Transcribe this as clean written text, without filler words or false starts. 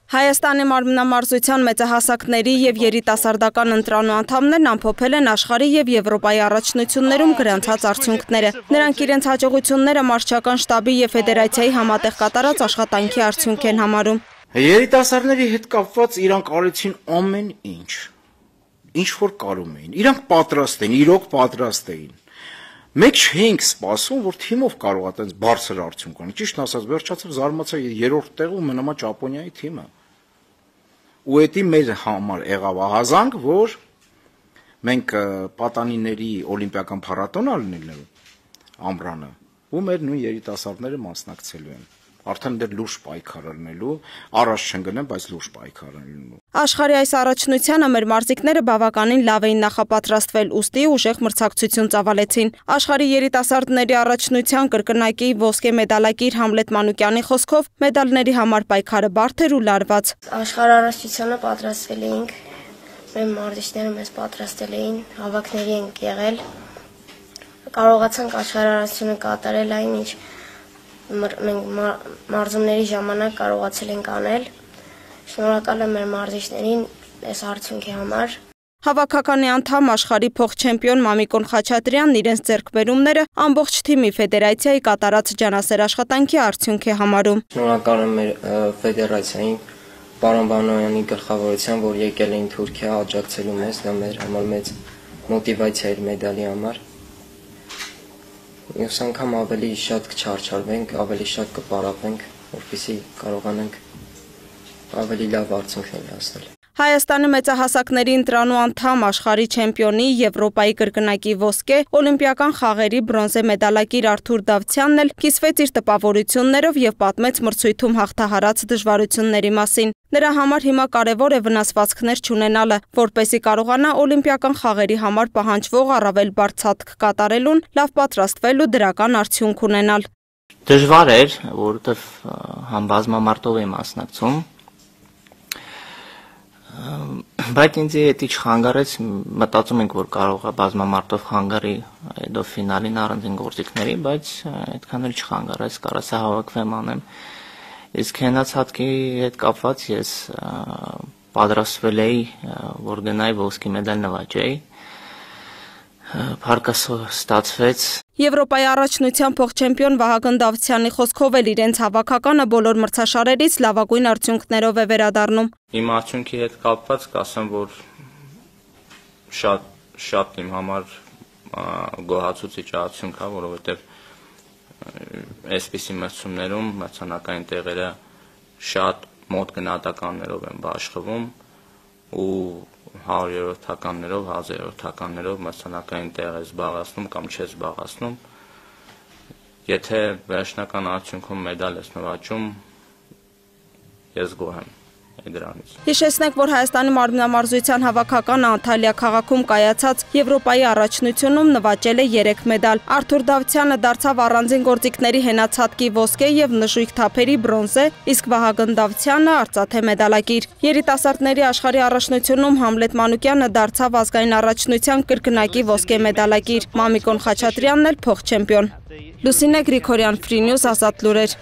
Հայաստանի մարմնամարզության մեծահասակների և երիտասարդական ընտրանու անդամներն ամփոփել են աշխարհի և Եվրոպայի առաջնություններում գրանցած արդյունքները։ Նրանք իրենց հաջողությունները մարզչական շտաբի և ֆեդերացիայի համատեղ կատարած աշխատանքի արդյունք են համարում։ Երիտասարդների հետ կապված իրանք արեցին ամեն ինչ որ կարում էին։ Իրանք պատրաստ էին, իրոք պատրաստ էին։ Մենք չէինք սպասում, որ թիմով կարողա տենց բարձր արդյունք ունենալ։ Ճիշտ ասած, վերջացավ զարմացա 3-րդ տեղում մնամա Ճապոնիայի թիմը։ Ու դա մեր համար եղավ ահազանգ, որ մենք պատանիների օլիմպիական փառատոն ալնելու ամռանը, ու մեր նույն երիտասարդները մասնակցելու են։ Արդեն դեռ լուրջ պայքար ալնելու, առաջ չընկնեն, բայց լուրջ պայքար ալնելու։ Աշխարհի այս առաջնությանը մեր մարզիկները բավականին լավ էին նախապատրաստվել, ուստի ուժեղ մրցակցություն ծավալեցին։ Աշխարհի երիտասարդների առաջնության կրկնակի ոսկե մեդալակիր Համլետ Մանուկյանի խոսքով մեդալների համար պայքարը բարդ էր ու լարված։ Աշխարհ առաջնությանը պատրաստվել էինք, մեր մարզիչները մեզ պատրաստել էին, հավաքների ենք եղել, կարողացանք աշխարհ առաջնությունը կատարել այն, ինչ մենք մարզումների ժամանակ կարողացել ենք անել։ Շնորհակալ եմ մեր մարզիչներին այս արդյունքի համար։ Հավաքականի անդամ աշխարհի փոխ-չեմպիոն Մամիկոն Խաչատրյանն իրենց ձեռքբերումները ամբողջ թիմի ֆեդերացիայի կատարած ջանասեր աշխատանքի արդյունք է համարում։ Շնորհակալ եմ մեր ֆեդերացիային, պարոն Բանոյանի գլխավորությամբ, որ եկել էին Թուրքիա աջակցելու մեզ, դա մեր համար մեծ մոտիվացիա էր մեդալի համար։ Մյուս անգամ ավելի շատ կչարչարվենք, ավելի շատ կպարապենք, որպեսզի կարողանանք ավելի լավ արդյունքներ հասնել։ Հայաստանի մեծահասակների ընտրանու անդամ աշխարհի չեմպիոնի, Եվրոպայի կրկնակի ոսկե, օլիմպիական խաղերի բրոնզե մեդալակիր Արթուր Դավթյանն էլ կիսվեց իր տպավորություններով և պատմեց մրցույթում հաղթահարած դժվարությունների մասին։ Նրա համար հիմա կարևոր է վնասվածքներ չունենալը, որպեսզի կարողանա օլիմպիական խաղերի համար պահանջվող առավել բարդ ցատկ կատարելուն, լավ պատրաստվել ու դրական արդյունք ունենալ։ Դժվար էր, որովհետև համ բազմամարտով եմ մասնակցում, բայց ինձ էդի չխանգարեց, մտածում ենք, որ կարող է բազմամարտով խանգարի հետո ֆինալին առանձին գործիքների, բայց այդքան էլ չխանգարեց, կարասա հավաքվեմ անեմ։ Իսկ հենացածքի հետ կապված ես պատրաստվել էի, որ գնայի ոսկի մեդալ նվաճեի, փառքը ստացվեց։ Եվրոպայի առաջնության փոխ-չեմպիոն Վահագն Դավթյանի խոսքով էլ իրենց հավաքականը բոլոր մրցաշարերից լավագույն արդյունքներով է վերադառնում։ Իմ արդյունքի հետ կապված կասեմ, որ շատ իմ համար գոհացուցիչ արդյունք է, որովհետև այսպիսի մրցումներում մրցանակային տեղերը շատ մոտ գնահատականներով են բաշխվում ու 100-րդականներով, 1000-րդականներով մրցանակային տեղ է զբաղացնում կամ չէ զբաղացնում։ Եթե վերջնական արդյունքում մեդալ ես նվաճում, ես գոհ եմ դրանից։ Հիշեցնենք, որ Հայաստանի մարմնամարզության հավաքականը Անտալիա քաղաքում կայացած Եվրոպայի առաջնությունում նվաճել է 3 մեդալ։ Արթուր Դավթյանը դարձավ առանձին գործիքների հենացածքի ոսկե և նժույգ թափերի բրոնզե, իսկ Վահագն Դավթյանը արծաթե մեդալակիր։ Երիտասարդների աշխարհի առաջնությունում Համլետ Մանուկյանը դարձավ ազգային առաջնության կրկնակի ոսկե մեդալակիր, Մամիկոն Խաչատրյանն էլ փոխ-չեմպիոն։ Լուսինե Գրիգորյան, Free News, Ազատ լուրեր։